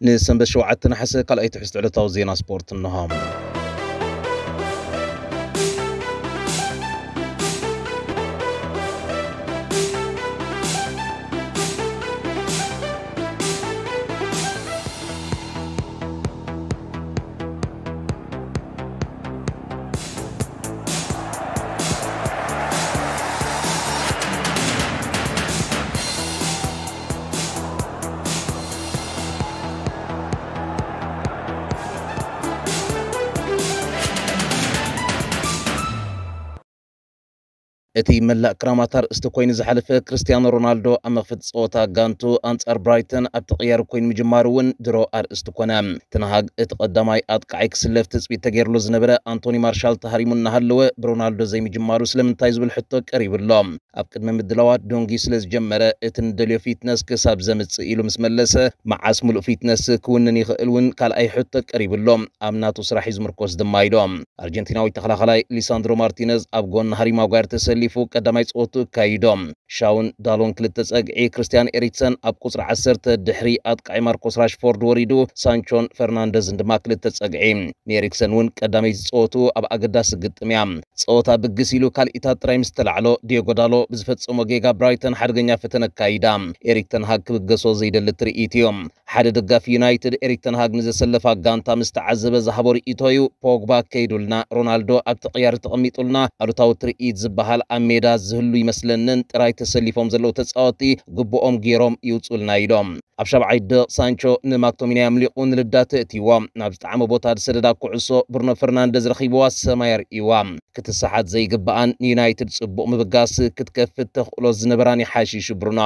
ንሰንበት ሸውዓተ ነሓሰ ካልኣይ ትሕዝቶ ዕለታዊ ዜና ስፖርት እንሆ። እቲ መላእ ክራማት ኣርእስቲ ኮይኑ ዝሓለፈ፣ ክርስቲያኖ ሮናልዶ ኣብ መኽፈቲ ጸወታ ጋንቱ ኣንጻር ብራይተን ኣብቲ ቅያር ኮይኑ ምጅማሩ እውን ድሮ ኣርእስቲ ኮነ። ተንሃግ እቲ ቀዳማይ ኣጥቃዓይ ክስለፍ ትጽቢት ተገይርሉ ዝነበረ ኣንቶኒ ማርሻል ተሃሪሙ እናሃለወ፣ ብሮናልዶ ዘይምጅማሩ ስለምንታይ ዝብል ሕቶ ቀሪቡ ኣሎ። ኣብ ቅድመ ምድላዋት ዶንጊ ስለ ዝጀመረ፣ እቲ ንደልዮ ፊትነስ ክሳብ ዘምጽእ ኢሉ ምስ መለሰ፣ መዓስ ምሉእ ፊትነስ ክውንን ይኽእል እውን ካልኣይ ሕቶ ቀሪቡ ኣሎ። ኣብ ናቱ ስራሕ እዩ ዝምርኮስ ድማ ኢሎም። ኣርጀንቲናዊ ተኸላኻላይ ሊሳንድሮ ማርቲነዝ ኣብ ጎኒ ሃሪ ማጓየር ተሰሊፉ ቀዳማይ ጸወቱ ኣካይዶ። ሻውን ዳሎን ክልተ ጸግዒ፣ ክርስቲያን ኤሪክሰን ኣብ ቁጽሪ ዓሰርተ ድሕሪ ኣጥቃዒ ማርኮስ ራሽፎርድ ወሪዱ፣ ሳንቾን ፈርናንደዝን ድማ ክልተ ጸግዒ። ንኤሪክሰን እውን ቀዳመይቲ ጸወቱ ኣብ ኣገዳሲ ግጥም እያ። ጸወታ ብግስ ኢሉ ካልኢታት ጥራይ ምስ ተላዕሎ፣ ዲዮጎ ዳሎ ብዝፈጸሞ ጌጋ ብራይተን ሓደገኛ ፈተነ ኣካይዳ። ኤሪክ ተንሃግ ክብገሶ ዘይደሊ ትርኢት እዩ። ሓደ ደጋፊ ዩናይትድ ኤሪክ ተንሃግ ንዘሰለፋ ጋንታ ምስ ተዓዘበ ዝሃቦ ርእይቶ እዩ። ፖግባ ከይዱልና፣ ሮናልዶ ኣብቲ ቅያር ተቐሚጡልና፣ ኣሉታዊ ትርኢት ዝበሃል ኣብ ሜዳ ዝህሉ ይመስለንን፣ ጥራይ ተሰሊፎም ዘለዉ ተጻወቲ ግቡኦም ገይሮም ይውጹልና ኢሎም። ኣብ ሻብዓይ ደቕ ሳንቾ ንማክቶሚናይ ኣምሊቑ ንልዳት እእትይዎ። ናብ ዝጠዓመ ቦታ ዝሰደዳ ኩዕሶ ብሩኖ ፈርናንደዝ ረኺብዋ ሰማይ ኣርእይዋ። ክትሰሓት ዘይግብኣን ንዩናይትድ ጽቡቕ ምብጋስ ክትከፍት ተኽእሎ ዝነበራን ይሓሽሹ ብሩኖ።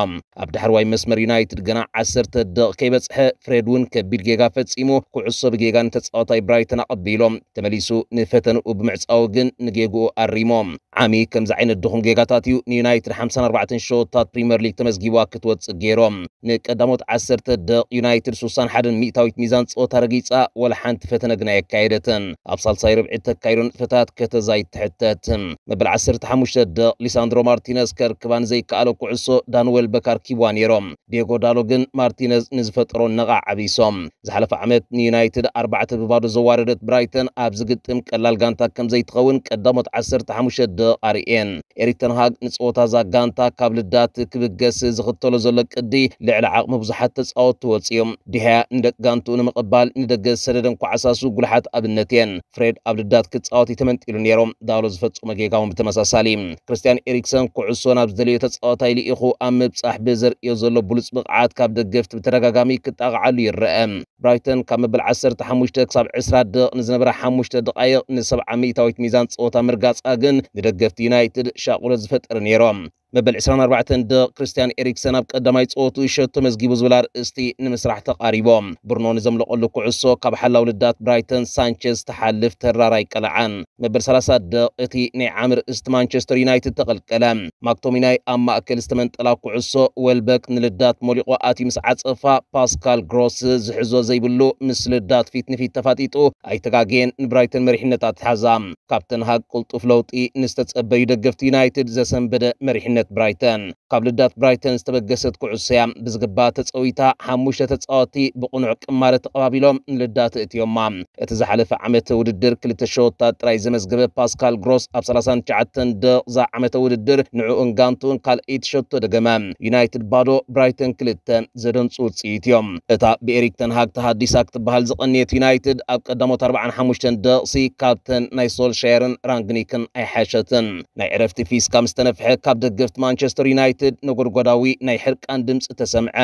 ኣብ ዳሕረዋይ መስመር ዩናይትድ ገና ዓሰርተ ደቕ ከይበጽሐ ፍሬድ እውን ከቢድ ጌጋ ፈጺሙ ኩዕሶ ብጌጋ ንተጻዋታይ ብራይተን ኣቐቢሎ። ተመሊሱ ንፈተንኡ ብምዕጻው ግን ንጌግኡ ኣሪሞ። ዓሚ ከምዚ ዓይነት ድኹም ጌጋታት እዩ ንዩናይትድ ሓምሳን ኣርባዕተን ሸወታት ፕሪምየር ሊግ ተመዝጊብዋ ክትወጽእ ገይሮም። ንቀዳሞት ዓሰርተ ደቕ ዩናይትድ ሱሳን ሓደን ሚእታዊት ሚዛን ጸወታ ረጊጻ፣ ወላ ሓንቲ ፈተነ ግና ኣየካየደትን። ኣብ ሳልሳይ ርብዒ እተካይዶ ንጥፈታት ከተዛይድ ትሕተት። መበል ዓሰርተ ሓሙሽተ ደቕ ሊሳንድሮ ማርቲነዝ ከርክባ ንዘይከኣሎ ኩዕሶ ዳን ዌልበክ ኣርኪብዋ ነይሮም። ዲየጎ ዳሎ ግን ማርቲነዝ ንዝፈጠሮ ነቓዕ ዓቢሶም። ዝሓለፈ ዓመት ንዩናይትድ ኣርባዕተ ብባዶ ዘዋረደት ብራይተን ኣብዚ ግጥም ቀላል ጋንታ ከም ዘይትኸውን ቀዳሞት ዓሰርተ ሓሙሽተ ደቕ ኣርእየን። ኤሪክ ተንሃግ ንጸወታ እዛ ጋንታ ካብ ልዳት ክብገስ ዝኽተሎ ዘሎ ቅዲ ልዕሊ ዓቕሚ ብዙሓት ተጻወትቲ ወጺኦም። ዲሃያ ንደቂ ጋንትኡ ንምቕባል ንደገ ዝሰደደን ኳዕሳሱ ጉልሓት ኣብነት እየን። ፍሬድ ኣብ ልዳት ክጻወት እዩ ተመንጢሉ ነይሩ። ዳሎ ዝፈጸሞ ጌጋ እውን ብተመሳሳሊ። ክርስቲያን ኤሪክሰን ኩዕሶ ናብ ዝደለዮ ተጻዋታይ ልኢኹ ኣብ ምብጻሕ ብዘርእዮ ዘሎ ብሉጽ ብቕዓት ካብ ደገፍቲ ብተደጋጋሚ ክጣቕዓሉ ይረአ። ብራይተን ካብ መበል ዓሰርተ ሓሙሽተ ክሳብ ዕስራ ደቕ ንዝነበራ ሓሙሽተ ደቓይቕ ንሰብዓ ሚእታዊት ሚዛን ጸወታ ምርጋጻ ግን ንደገፍቲ ዩናይትድ ሻቕሎት ዝፈጠረ ነይሩ። መበል ዕስራን ኣርባዕተን ደቕ ክርስቲያን ኤሪክሰን ኣብ ቀዳማይ ጸወቱ ሸቶ መዝጊቡ ዝብል ኣርእስቲ ንምስራሕ ተቓሪቦም። ብሩኖ ንዘምለቐሉ ኩዕሶ ካብ ሓላው ልዳት ብራይተን ሳንቸዝ ተሓልፍ ተራር ኣይቀልዓን። መበል ሰላሳ ደቕ እቲ ናይ ዓሚ ርእስቲ ማንቸስተር ዩናይትድ ተቐልቀለ። ማክቶሚናይ ኣብ ማእከል ዝተመንጠላ ኩዕሶ ዌልበክ ንልዳት ሞሊቑ ኣትዩ ምስ ዓጸፋ፣ ፓስካል ግሮስ ዝሕዞ ዘይብሉ ምስ ልዳት ፊት ንፊት ተፋጢጡ ኣይተጋገየን፣ ንብራይተን መሪሕነት ኣትሓዛ። ካብ ተንሃግ ቅልጡፍ ለውጢ ንዝተጸበዩ ደገፍቲ ዩናይትድ ዘሰንበደ መሪሕነት ብራይተን። ካብ ልዳት ብራይተን ዝተበገሰት ኩዕሶ እያ ብዝግባእ ተጸዊታ። ሓሙሽተ ተጻወትቲ ብቕኑዕ ቅማረ ተቐባቢሎም ንልዳት እእትዮማ። እቲ ዝሓለፈ ዓመት ውድድር ክልተ ሸወታት ጥራይ ዘመዝገበ ፓስካል ግሮስ ኣብ ሰላሳን ትሽዓተን ደቕዛ ዓመተ ውድድር ንዕኡን ጋንቱን ካልኣይቲ ሸቶ ደገመ። ዩናይትድ ባዶ፣ ብራይተን ክልተ፣ ዘደንጹ ውጽኢት እዮም። እታ ብኤሪክ ተንሃግ ተሃዲሳ ክትበሃል ዝቐንየት ዩናይትድ ኣብ ቀዳሞት ኣርባዓን ሓሙሽተን ደቕሲ ካብተን ናይ ሶልሻየርን ራንግኒክን ኣይሓሸትን። ናይ ዕረፍቲ ፊስካ ምስ ተነፍሐ ካብ ደገፍቲ ማንቸስተር ዩናይትድ ነጎድጓዳዊ ናይ ሕርቃን ድምጺ ተሰምዐ።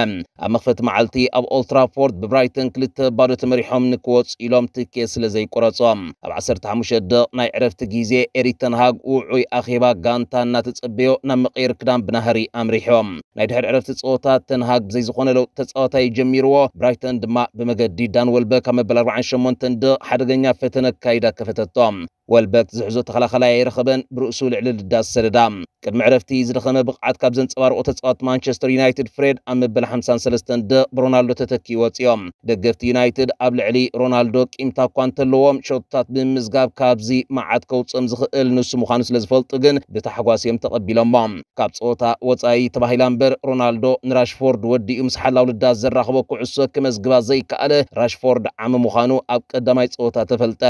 ኣብ መኽፈቲ መዓልቲ ኣብ ኦልትራፎርድ ብብራይተን ክልተ ባዶ ተመሪሖም ንክወጹ ኢሎም ትኬት ስለ ዘይቆረጾም። ኣብ ዓሰርተ ሓሙሽተ ደቕ ናይ ዕረፍቲ ግዜ ኤሪክ ተንሃግ ውዑይ ኣኼባ ጋንታ እናተጸበዮ ናብ መቐየሪ ክዳን ብናህሪ ኣምሪሖም። ናይ ድሕሪ ዕረፍቲ ጸወታ ተንሃግ ብዘይ ዝኾነ ለውጢ ተጻዋታይ ጀሚርዎ፣ ብራይተን ድማ ብመገዲ ዳን ወልበክ ኣብ መበል ኣርባዓን ሸሞንተን ደቕ ሓደገኛ ፈተነ ኣካይዳ ከፈተቶም። ወልበክ ዝሕዞ ተኸላኸላይ ኣይረኸበን፣ ብርእሱ ልዕሊ ልዳት ሰደዳ። ቅድሚ ዕረፍቲ ዝደኸመ ብቕዓት ካብ ዘንጸባርቑ ተጻወት ማንቸስተር ዩናይትድ ፍሬድ ኣብ መበል ሓምሳን ሰለስተን ደቕ ብሮናልዶ ተተኪኡ ወጺኦም። ደገፍቲ ዩናይትድ ኣብ ልዕሊ ሮናልዶ ቂምታ እኳ እንተለዎም፣ ሸቶታት ብምምዝጋብ ካብዚ መዓት ከውጽኦም ዝኽእል ንሱ ምዃኑ ስለ ዝፈልጡ ግን ብታሕጓስ እዮም ተቐቢሎሞ። ካብ ጸወታ ወጻኢ ተባሂላ እምበር፣ ሮናልዶ ንራሽፎርድ ወዲኡ ምስ ሓላው ልዳት ዘራኽቦ ኩዕሶ ክመዝግባ ዘይከኣለ፣ ራሽፎርድ ዓሚ ምዃኑ ኣብ ቀዳማይ ጸወታ ተፈልጠ።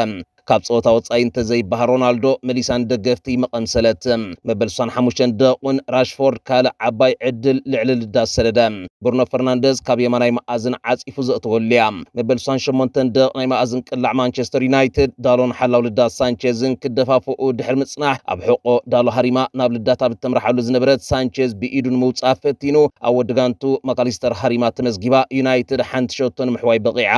ካብ ጸወታ ወጻኢ እንተዘይበሃል፣ ሮናልዶ መሊሳ ንደገፍቲ መቐምሰለት። መበል ስሳን ሓሙሽተን ደቑን ራሽፎርድ ካልእ ዓባይ ዕድል ልዕሊ ልዳት ሰደደ። ብሩኖ ፈርናንደዝ ካብ የማናይ መኣዝን ዓጺፉ ዘእተወሉ እያ። መበል ስሳን ሸሞንተን ደቕ ናይ መኣዝን ቅላዕ ማንቸስተር ዩናይትድ፣ ዳሎን ሓላው ልዳት ሳንቼዝን ክደፋፍኡ ድሕሪ ምጽናሕ፣ ኣብ ሕቆ ዳሎ ሃሪማ ናብ ልዳት ኣብ እተምርሓሉ ዝነበረት ሳንቼዝ ብኢዱ ንምውጻእ ፈቲኑ፣ ኣብ ወዲ ጋንቱ ማካሊስተር ሃሪማ ተመዝጊባ፣ ዩናይትድ ሓንቲ ሸቶ ንምሕዋይ በቒዓ።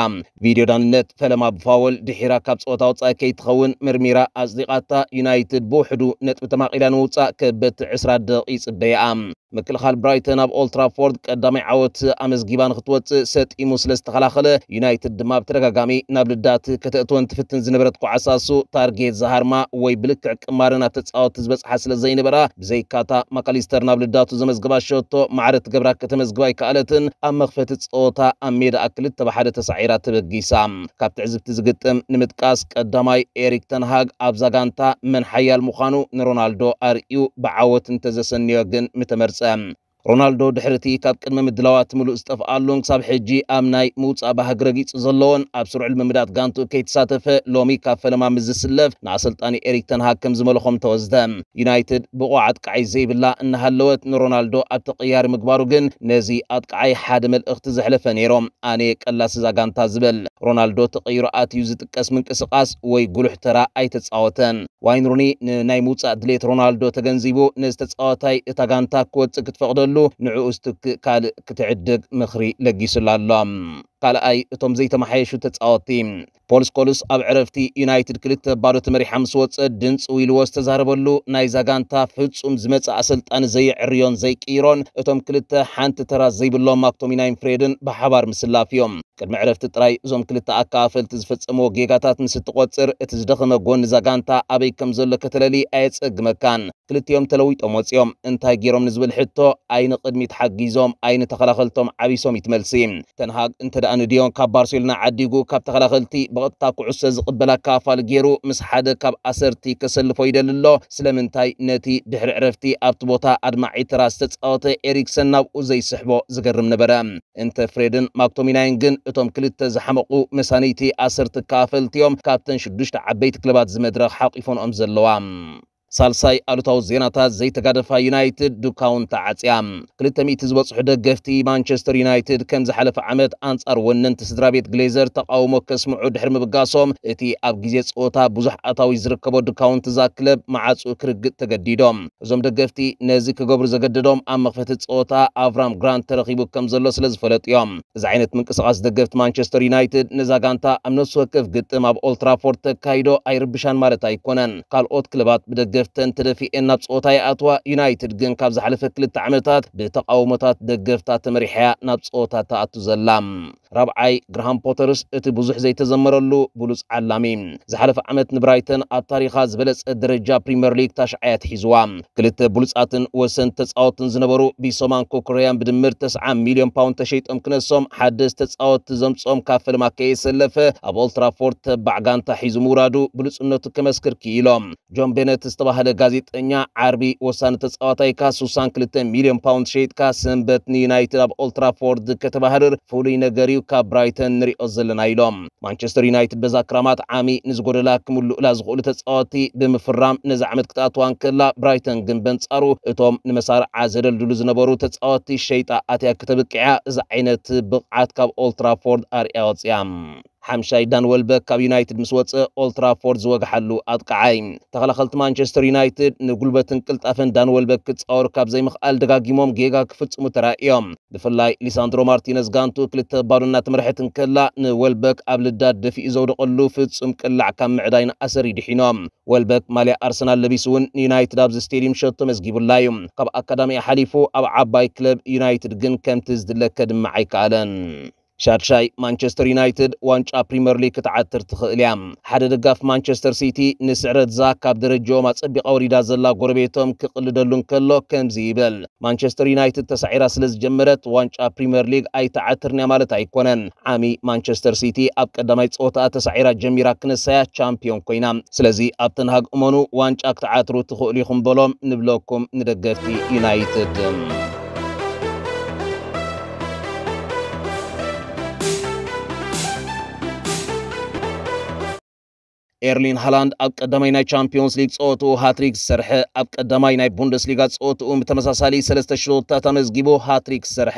ቪድዮ ዳንነት ፈለማ ብፋወል ድሒራ ካብ ጸወታ ወጻኢ ከይትኸውን መርሚራ ኣጽዲቓታ፣ ዩናይትድ ብውሕዱ ነጥቢ ተማቒላ ንምውጻእ ከበቲ ዕስራ ደቒቕ ይጽበያ። ምክልኻል ብራይተን ኣብ ኦልትራፎርድ ቀዳማይ ዓወት ኣመዝጊባ ንክትወጽእ ሰጢሙ ስለ ዝተኸላኸለ፣ ዩናይትድ ድማ ብተደጋጋሚ ናብ ልዳት ከተእትወን ትፍትን ዝነበረት ኳዕሳሱ ታርጌት ዝሃርማ ወይ ብልክዕ ቅማርን ኣብ ተጻወቲ ዝበጽሓ ስለ ዘይነበራ፣ ብዘይካታ ማካሊስተር ናብ ልዳቱ ዘመዝግባ ሸቶ ማዕረ ትገብራ ከተመዝግባ ኣይከኣለትን። ኣብ መኽፈቲ ጸወታ ኣብ ሜዳ ክልተ ብሓደ ተሳዒራ ተበጊሳ። ካብ ትዕዝብቲ ዝግጥም ንምጥቃስ፣ ቀዳማይ ኤሪክ ተንሃግ ኣብዛ ጋንታ መን ሓያል ምዃኑ ንሮናልዶ ኣርእዩ ብዓወት እንተዘሰንዮ ግን ምተመርጸ። ሮናልዶ ድሕሪ እቲ ካብ ቅድመ ምድላዋት ምሉእ ዝጠፍኣሉን ክሳብ ሕጂ ኣብ ናይ ምውጻእ ባህጊ ረጊጹ ዘሎን ኣብ ስሩዕ ልምምዳት ጋንቱ ከይተሳተፈ ሎሚ ካብ ፈለማ ምስ ዝስለፍ ንኣሰልጣኒ ኤሪክ ተንሃግ ከም ዝመልኾም ተወስደ። ዩናይትድ ብቑዕ ኣጥቃዓይ ዘይብላ እናሃለወት ንሮናልዶ ኣብ ተቐያሪ ምግባሩ ግን ነዚ ኣጥቃዓይ ሓደ መልእኽቲ ዘሕለፈ ነይሮም። ኣነ ቀላሲ እዛ ጋንታ ዝበል ሮናልዶ ተቐይሩ ኣትዩ ዝጥቀስ ምንቅስቓስ ወይ ጉሉሕ ተራ ኣይተጻወተን። ዋይን ሩኒ ንናይ ምውጻእ ድሌት ሮናልዶ ተገንዚቡ፣ ነዚ ተጻዋታይ እታ ጋንታ ክወጽእ ክትፈቕደሉ ንዕኡ ዝትክእ ካልእ ክትዕድግ ምኽሪ ለጊሱሉ ኣሎ። ካልኣይ፣ እቶም ዘይተመሓየሹ ተጻወትቲ። ፖል ስኮልስ ኣብ ዕረፍቲ ዩናይትድ ክልተ ባዶ ተመሪሓ ምስ ወጸት ድንጽው ኢልዎ ዝተዛረበሉ፣ ናይዛ ጋንታ ፍጹም ዝመጽእ ኣሰልጣኒ ዘየዕርዮን ዘይቅይሮን፣ እቶም ክልተ ሓንቲ ተራ ዘይብሎም ማክቶሚናይን ፍሬድን ብሓባር ምስላፍ እዮም። ቅድሚ ዕረፍቲ ጥራይ እዞም ክልተ ኣከፋፈልቲ ዝፈጸምዎ ጌጋታት ምስ እትቖጽር፣ እቲ ዝደኸመ ጎኒ እዛ ጋንታ ኣበይ ከም ዘሎ ከተለሊ ኣየጸግመካን። ክልቲኦም ተለዊጦም ወጺኦም። እንታይ ገይሮም ንዝብል ሕቶ፣ ኣይ ንቕድሚት ሓጊዞም፣ ኣይ ንተኸላኸልቶም ዓቢሶም እዩ ትመልሲ። ተንሃግ እንተ ደኣ ንድዮን ካብ ባርሴሎና ዓዲጉ፣ ካብ ተኸላኸልቲ ብቐጥታ ኩዕሶ ዝቕበል ኣከፋፋሊ ገይሩ ምስ ሓደ ካብ ኣሰርቲ ከሰልፎ ይደሊ ኣሎ። ስለምንታይ ነቲ ድሕሪ ዕረፍቲ ኣብቲ ቦታ ኣድማዒ ተራ ዝተጻወተ ኤሪክሰን ናብኡ ዘይስሕቦ ዝገርም ነበረ። እንተ ፍሬድን ማክቶሚናይን ግን እቶም ክልተ ዝሓመቑ መሳንይቲ ኣሰርቲ ኣከፋፈልቲ እዮም፣ ካብተን ሽዱሽተ ዓበይቲ ክለባት እዚ መድረኽ ሓቂፈንኦም ዘለዋ። ሳልሳይ ኣሉታዊ ዜናታት፣ ዘይተጋደፋ ዩናይትድ ዱካውን ተዓጽያ። ክልተ ሚእቲ ዝበጽሑ ደገፍቲ ማንቸስተር ዩናይትድ ከም ዝሓለፈ ዓመት ኣንጻር ወነንቲ ስድራ ቤት ግሌዘር ተቓውሞ ከስምዑ ድሕሪ ምብጋሶም፣ እቲ ኣብ ግዜ ጸወታ ብዙሕ ኣታዊ ዝርከቦ ዱካውን እዛ ክለብ መዓጹ ክርግጥ ተገዲዶም። እዞም ደገፍቲ ነዚ ክገብሩ ዘገደዶም ኣብ መኽፈቲ ጸወታ ኣቭራም ግራንት ተረኺቡ ከም ዘሎ ስለ ዝፈለጡ እዮም። እዚ ዓይነት ምንቅስቓስ ደገፍቲ ማንቸስተር ዩናይትድ ነዛ ጋንታ ኣብ ነፍሲ ወከፍ ግጥም ኣብ ኦልትራፎርድ ተካይዶ ኣይርብሻን ማለት ኣይኮነን። ካልኦት ክለባት ብደገፍተን ተደፊኤን ናብ ጸወታ ይኣትዋ፣ ዩናይትድ ግን ካብ ዝሓለፈ ክልተ ዓመታት ብተቓውሞታት ደገፍታ ተመሪሓ እያ ናብ ጸወታ ትኣቱ ዘላ። ራብዓይ፣ ግራሃም ፖተርስ እቲ ብዙሕ ዘይተዘመረሉ ብሉጽ ዓላሚ። ዝሓለፈ ዓመት ንብራይተን ኣብ ታሪኻ ዝበለጸ ደረጃ ፕሪምየር ሊግ ታሽዓይ ኣትሒዝዋ። ክልተ ብሉጻትን ወሰንቲ ተጻወትን ዝነበሩ ቢሶማን ኮኮረያን ብድምር ተስዓ ሚልዮን ፓውንድ ተሸይጦም ክነሶም፣ ሓደስቲ ተጻወትቲ ዘምጽኦም ካብ ፈለማ ከየሰለፈ ኣብ ኦልትራፎርድ ተባዕ ጋንታ ሒዙ ምውራዱ ብሉጽነቱ ከመስክር ክኢሎም። ጆን ቤነት ዝተባህለ ጋዜጠኛ፣ ዓርቢ ወሳኒ ተጻዋታይካ ስሳን ክልተ ሚልዮን ፓውንድ ሸይጥካ ሰንበት ንዩናይትድ ኣብ ኦልትራፎርድ ከተባህርር ፍሉይ ነገር እዩ፣ ካብ ብራይተን ንሪኦ ዘለና ኢሎም። ማንቸስተር ዩናይትድ በዛ ክራማት ዓሚ ንዝጎደላ ክምልኡላ ዝኽእሉ ተጻወቲ ብምፍራም ነዚ ዓመት ክትኣትዋ እንከላ፣ ብራይተን ግን በንጻሩ እቶም ንመሳርዓ ዘደልድሉ ዝነበሩ ተጻወቲ ሸይጣ ኣትያ ክተብቅዕ እያ። እዚ ዓይነት ብቕዓት ካብ ኦልትራፎርድ ኣርእያ ወጽያ። ሓምሻይ፣ ዳን ወልበክ ካብ ዩናይትድ ምስ ወጸ ኦልትራፎርድ ዝወግሓሉ ኣጥቃዓይ። ተኸላኸልቲ ማንቸስተር ዩናይትድ ንጉልበትን ቅልጣፈን ዳን ወልበክ ክጻወሩ ካብ ዘይምኽኣል ደጋጊሞም ጌጋ ክፍጽሙ ተራእዮም። ብፍላይ ሊሳንድሮ ማርቲነዝ ጋንቱ ክልተ ባዶ እናተመርሐት እንከላ፣ ንወልበክ ኣብ ልዳት ደፊኡ ዘውደቐሉ ፍጹም ቅላዕ ካብ ምዕዳይ ንኣሰር ይድሒኖም። ወልበክ ማልያ ኣርሰናል ለቢሱ እውን ንዩናይትድ ኣብዚ ስቴድዩም ሸቶ መዝጊቡላ እዩ። ካብ ኣካዳሚኣ ሓሊፉ ኣብ ዓባይ ክለብ ዩናይትድ ግን ከምቲ ዝድለ ከድምዕ ኣይከኣለን። ሻድሻይ፣ ማንቸስተር ዩናይትድ ዋንጫ ፕሪምየር ሊግ ክትዓትር ትኽእል እያ። ሓደ ደጋፊ ማንቸስተር ሲቲ ንስዕረት ዛክ ካብ ደረጃኦም ኣጸቢቓ ወሪዳ ዘላ ጎረቤቶም ክቕልደሉ እንከሎ ከምዚ ይብል። ማንቸስተር ዩናይትድ ተሳዒራ ስለ ዝጀመረት ዋንጫ ፕሪምየር ሊግ ኣይትዓትርን እያ ማለት ኣይኮነን። ዓሚ ማንቸስተር ሲቲ ኣብ ቀዳማይ ጸወታ ተሳዒራ ጀሚራ ክነሳያ ቻምፒዮን ኮይና። ስለዚ ኣብ ተንሃግ እመኑ ዋንጫ ክትዓትሩ ትኽእሉ ኢኹም በሎም ንብለኩም ንደገፍቲ ዩናይትድ። ኤርሊን ሃላንድ ኣብ ቀዳማይ ናይ ቻምፒዮንስ ሊግ ጸወትኡ ሃትሪክ ዝሰርሐ፣ ኣብ ቀዳማይ ናይ ቡንደስሊጋ ጸወትኡ ብተመሳሳሊ ሰለስተ ሸወታት ኣመዝጊቡ ሃትሪክ ዝሰርሐ፣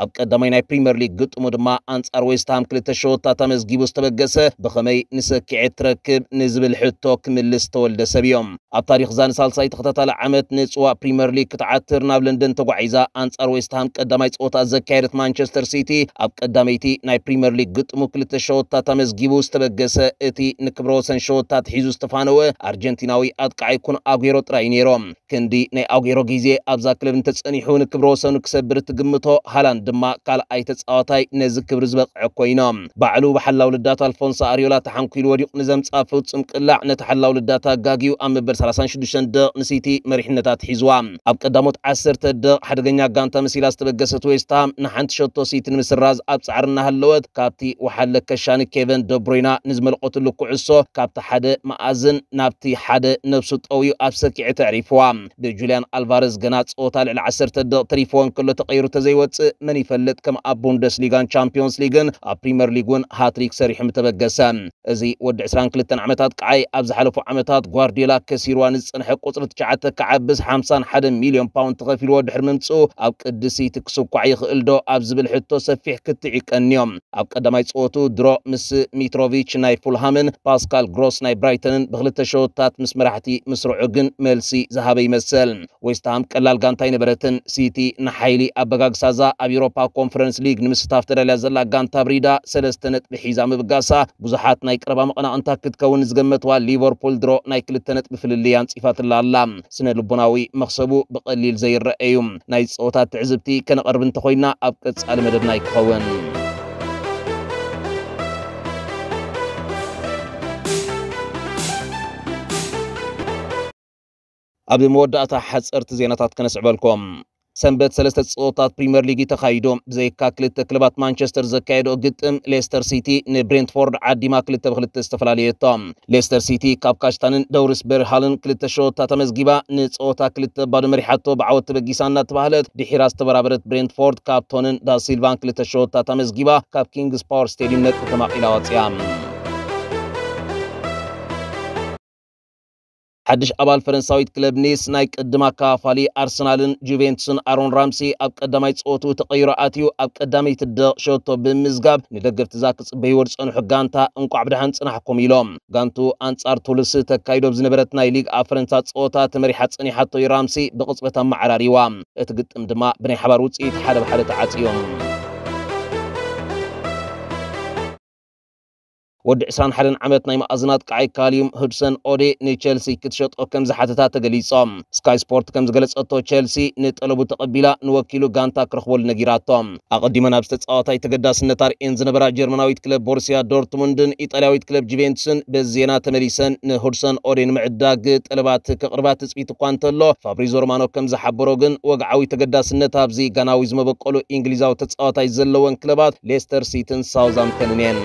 ኣብ ቀዳማይ ናይ ፕሪምየር ሊግ ግጥሙ ድማ ኣንጻር ዌስትሃም ክልተ ሸወታት ኣመዝጊቡ ዝተበገሰ፣ ብኸመይ ንሰኪዔት ትረክብ ንዝብል ሕቶ ክምልስ ተወልደ ሰብ እዮም። ኣብ ታሪኽ እዛ ንሳልሳይ ተኸታታሊ ዓመት ንጽዋእ ፕሪምየር ሊግ ክትዓትር ናብ ለንደን ተጓዒዛ ኣንጻር ዌስትሃም ቀዳማይ ጸወታ ዘካየደት ማንቸስተር ሲቲ፣ ኣብ ቀዳመይቲ ናይ ፕሪምየር ሊግ ግጥሙ ክልተ ሸወታት ኣመዝጊቡ ዝተበገሰ እቲ ንክብረ ወሰን ሸወታት ሒዙ ዝተፋነወ ኣርጀንቲናዊ ኣጥቃዓይ ኩን ኣጉዌሮ ጥራይ ነይሩ። ክንዲ ናይ ኣጉዌሮ ግዜ ኣብዛ ክለብ እንተጸኒሑ ንክብረ ወሰኑ ክሰብር እትግምቶ፣ ሃላንድ ድማ ካልኣይ ተጻዋታይ ነዚ ክብሪ ዝበቕዐ ኮይኑ። ባዕሉ ብሓላው ልዳት ኣልፎንሶ ኣሪዮላ ተሓንኲሉ ወዲቑ ንዘምጽኣ ፍጹም ቅላዕ፣ ነቲ ሓላው ልዳት ኣጋጊዩ ኣብ መበል ሰላሳን ሽዱሽተን ደቕ ንሲቲ መሪሕነታ ኣትሒዝዋ። ኣብ ቀዳሞት ዓሰርተ ደቕ ሓደገኛ ጋንታ መሲላ ዝተበገሰት ዌስትሃም ንሓንቲ ሸቶ ሲቲ ንምስራዝ ኣብ ጻዕሪ እናሃለወት፣ ካብቲ ወሓለ ከሻኒ ኬቨን ደብሮይና ንዝመልቆትሉ ኩዕሶ ካብቲ ሓደ መኣዝን ናብቲ ሓደ ነብሱ ጠውዩ ኣብ ሰኪዐ ተዕሪፍዋ። ብጁልያን ኣልቫረዝ ገና ጸወታ ልዕሊ ዓሰርተ ደቕ ተሪፍዎ እንከሎ ተቐይሩ ተዘይወጽእ፣ መን ይፈልጥ ከም ኣብ ቡንደስሊጋን ቻምፒዮንስ ሊግን ኣብ ፕሪምየር ሊግ እውን ሃትሪክ ሰሪሑ ምተበገሰ። እዚ ወዲ ዕስራን ክልተን ዓመታት ቃዓይ ኣብ ዝሓለፉ ዓመታት ጓርዲዮላ ከሲርዋ ንዝጸንሐ ቁጽሪ ትሽዓተ ክዓብስ ሓምሳን ሓደ ሚልዮን ፓውንድ ተኸፊልዎ ድሕሪ ምምጽኡ፣ ኣብ ቅዲ ሲቲ ክስኳዕ ይኽእል ዶ ኣብ ዝብል ሕቶ ሰፊሕ ክትዕ ይቀንዮም። ኣብ ቀዳማይ ጸወቱ ድሮ ምስ ሚትሮቪች ናይ ፉልሃምን ፓስካል ግሮስ ናይ ብራይተንን ብክልተ ሸወታት ምስ መራሕቲ ምስርዑ ግን መልሲ ዝሃበ ይመስል። ዌስትሃም ቀላል ጋንታ ኣይነበረትን። ሲቲ ንሓይሊ ኣበጋግሳዛ ኣብ ኤውሮፓ ኮንፈረንስ ሊግ ንምስታፍ ተዳልያ ዘላ ጋንታ ብሪዳ ሰለስተ ነጥቢ ሒዛ ምብጋሳ ብዙሓት ናይ ቀረባ መቐናቕንታ ክትከውን ዝገመትዋ ሊቨርፑል ድሮ ናይ ክልተ ነጥቢ ፍልልይ ኣንጺፋትላ ኣላ። ስነ ልቦናዊ መኽሰቡ ብቐሊል ዘይረአ እዩ። ናይ ጸወታ ትዕዝብቲ ከነቐርብ እንተኾይና ኣብ ቀጻሊ መደብና ይክኸውን። ኣብ መወዳእታ ሓጸርቲ ዜናታት ከነስዕበልኩም። ሰንበት ሰለስተ ጸወታት ፕሪምየር ሊግ እዩ ተኻይዱ። ብዘይካ ክልተ ክለባት ማንቸስተር ዘካየዶ ግጥም፣ ሌስተር ሲቲ ንብሬንትፎርድ ዓዲማ ክልተ ብክልተ ዝተፈላለየቶ። ሌስተር ሲቲ ካብ ካሽታንን ደውሪስ ቤርሃልን ክልተ ሸወታት ኣመዝጊባ፣ ንጸወታ ክልተ ባዶ መሪሓቶ ብዓወት ተበጊሳ እናተባህለት፣ ድሒራ ዝተበራበረት ብሬንትፎርድ ካብ ቶንን ዳሲልቫን ክልተ ሸወታት ኣመዝጊባ፣ ካብ ኪንግስ ፓወር ስቴዲየም ነጥቢ ተማቒላ ወጽያ። ሓድሽ ኣባል ፈረንሳዊት ክለብ ኒስ ናይ ቅድም ኣካፋሊ ኣርሰናልን ጁቬንቱስን ኣሮን ራምሲ ኣብ ቀዳማይ ጸወቱ ተቐይሩ ኣትዩ ኣብ ቀዳመይቲ ደቕ ሸቶ ብምዝጋብ ንደገፍቲ እዛ ክጽበይዎ ዝጸንሑ ጋንታ እንቋዕ ብደሓን ጽናሕኩም ኢሎም። ጋንቱ ኣንጻር ቱልስ ተካይዶ ብዝነበረት ናይ ሊግ ኣብ ፈረንሳ ጸወታ ተመሪሓ ጸኒሓቶ እዩ ራምሲ ብቕጽበት ኣመዓራሪዋ። እቲ ግጥም ድማ ብናይ ሓባር ውጽኢት ሓደ ብሓደ ተዓጽዮም። ወዲ ዕስራን ሓደን ዓመት ናይ መኣዝናት ቃዓይ ካሊዩም ሁድሰን ኦዴ ንቸልሲ ክትሸጦ ከም ዝሓተታ ተገሊጾም። ስካይ ስፖርት ከም ዝገለጸቶ ቸልሲ ንጠለቡ ተቐቢላ ንወኪሉ ጋንታ ክረኽበሉ ነጊራቶ። ኣቐዲመን ኣብ ዝተጻወታይ ተገዳስነት ኣርእየን ዝነበራ ጀርመናዊት ክለብ ቦሩሲያ ዶርትሙንድን ኢጣልያዊት ክለብ ጁቬንቱስን በዚ ዜና ተመሊሰን ንሁድሰን ኦዴ ንምዕዳግ ጠለባት ከቕርባ ትጽቢት እኳ እንተሎ፣ ፋብሪዞ ሮማኖ ከም ዝሓበሮ ግን ወግዓዊ ተገዳስነት ኣብዚ ጋናዊ ዝመበቆሉ እንግሊዛዊ ተጻዋታይ ዘለወን ክለባት ሌስተር ሲትን ሳውዝሃምፕተንን እየን።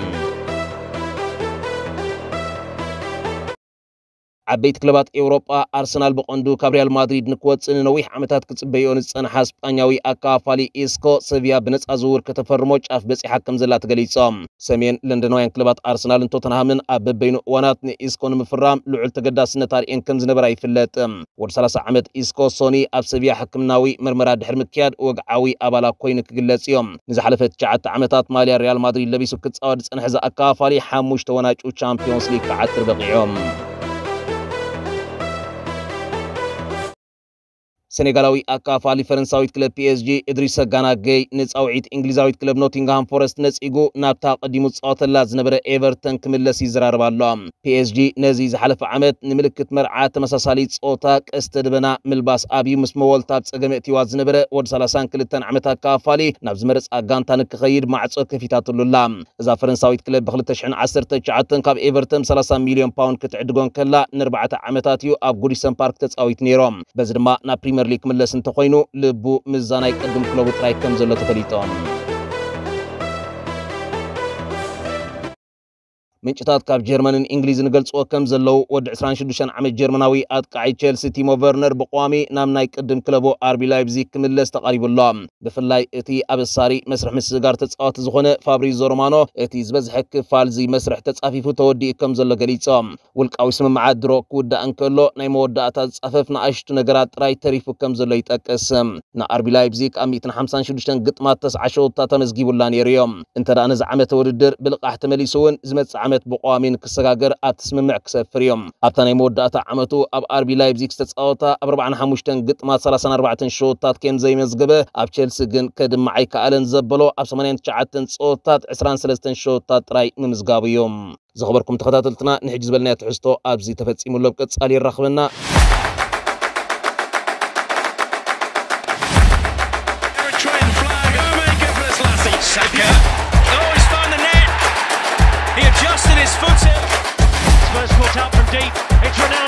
ዓበይቲ ክለባት ኤውሮጳ ኣርሰናል ብቐንዱ ካብ ሪያል ማድሪድ ንክወጽእ ንነዊሕ ዓመታት ክጽበይኦ ንዝጸንሓ ስጳኛዊ ኣካፋሊ ኢስኮ ሰቪያ ብነጻ ዝውውር ከተፈርሞ ጫፍ በጺሓ ከም ዘላ ተገሊጾም። ሰሜን ለንደናውያን ክለባት ኣርሰናልን ቶተንሃምን ኣብ በበይኑ እዋናት ንኢስኮ ንምፍራም ልዑል ተገዳስነት ኣርእየን ከም ዝነበራ ይፍለጥ። ወዲ ሰላሳ ዓመት ኢስኮ ሶኒ ኣብ ሰቪያ ሕክምናዊ መርመራ ድሕሪ ምክያድ ወግዓዊ ኣባላ ኮይኑ ክግለጽ እዮም። ንዝሓለፈ ትሽዓተ ዓመታት ማልያ ሪያል ማድሪድ ለቢሱ ክጻወት ዝጸንሐ ዝኣካፋሊ ሓሙሽተ ወናጩ ቻምፒዮንስ ሊግ ክዓትር በቒዖም። ሰኔጋላዊ ኣካፋሊ ፈረንሳዊት ክለብ ፒ ኤስ ጂ እድሪስ ሰጋና ገይ ንጻውዒት እንግሊዛዊት ክለብ ኖቲንግሃም ፎረስት ነጺጉ ናብታ ቀዲሙ ዝጻወተላ ዝነበረ ኤቨርተን ክምለስ ይዘራረብ ኣሎ። ፒ ኤስ ጂ ነዚ ዝሓለፈ ዓመት ንምልክት መርዓ ተመሳሳሊ ጾታ ቀስተ ደበና ምልባስ ኣብዩ ምስ መወልታ ኣብ ጸገም እትዋ ዝነበረ ወዲ ሰላሳን ክልተን ዓመት ኣካፋሊ ናብ ዝመረጻ ጋንታ ንክኸይድ ማዕጾ ከፊታትሉ ኣላ። እዛ ፈረንሳዊት ክለብ ብ ክልተ ሽሕን ዓሰርተ ትሽዓተን ካብ ኤቨርተን ሰላሳ ሚልዮን ፓውንድ ክትዕድጎ እንከላ ንኣርባዕተ ዓመታት እዩ ኣብ ጉዲሰን ፓርክ ተጻዊት ነይሩ። በዚ ድማ ናብ ፕሪምየር ሊግ ክምለስ እንተኾይኑ ልቡ ምስዛ ናይ ቅድም ክለቡ ጥራይ ከም ዘሎ ተፈሊጦም። ምንጭታት ካብ ጀርመንን እንግሊዝን ገልጽዎ ከም ዘለዉ ወዲ ዕስራን ሽዱሽተን ዓመት ጀርመናዊ ኣጥቃዒ ቸልሲ ቲሞ ቨርነር ብቋሚ ናብ ናይ ቅድም ክለቡ ኣርቢ ላይፕዚግ ክምለስ ተቓሪቡ ኣሎ። ብፍላይ እቲ ኣብ ኣሳሪ መስርሕ ምስግጋር ተጻዋቲ ዝኾነ ፋብሪዞ ሮማኖ እቲ ዝበዝሐ ክፋል እዚ መስርሕ ተጻፊፉ ተወዲኡ ከም ዘሎ ገሊጾም። ውልቃዊ ስምምዓት ድሮ ክውዳእ እንከሎ ናይ መወዳእታ ዝጻፈፍ ንኣሽቱ ነገራት ጥራይ ተሪፉ ከም ዘሎ ይጠቅስ። ንኣርቢ ላይፕዚግ ኣብ ሚእትን ሓምሳን ሽዱሽተን ግጥማት ተስዓ ሸወታት ተመዝጊቡላ ነይሩ እዮም። እንተ ደኣ ነዚ ዓመተ ውድድር ብልቓሕ ተመሊሱ እውን ዝመጽእ ዓመት ብቋሚ ንክሰጋገር ኣብቲ ስምምዕ ክሰፍር እዮም። ኣብታ ናይ መወዳእታ ዓመቱ ኣብ ኣርቢ ላይፕዚግ ዝተጻወታ ኣብ ኣርባዓን ሓሙሽተን ግጥማት ሰላሳን ኣርባዕተን ሸወታት ከም ዘይመዝገበ ኣብ ቸልሲ ግን ከድምዕ ኣይከኣለን ዘበሎ ኣብ ሰማንያን ትሽዓተን ጸወታት ዕስራን ሰለስተን ሸወታት ጥራይ ምምዝጋቡ እዩ። ዝኸበርኩም ተኸታተልትና ንሕጂ ዝበልናዮ ትሕዝቶ ኣብዚ ተፈጺሙ ኣሎ። ኣብ ቀጻሊ የራኽበና። Eritrean flag. Go, mate, go for this, Lassie. Saka. Oh, he's found the net. He adjusted his foot. Spurs caught out from deep. It's Ronaldo.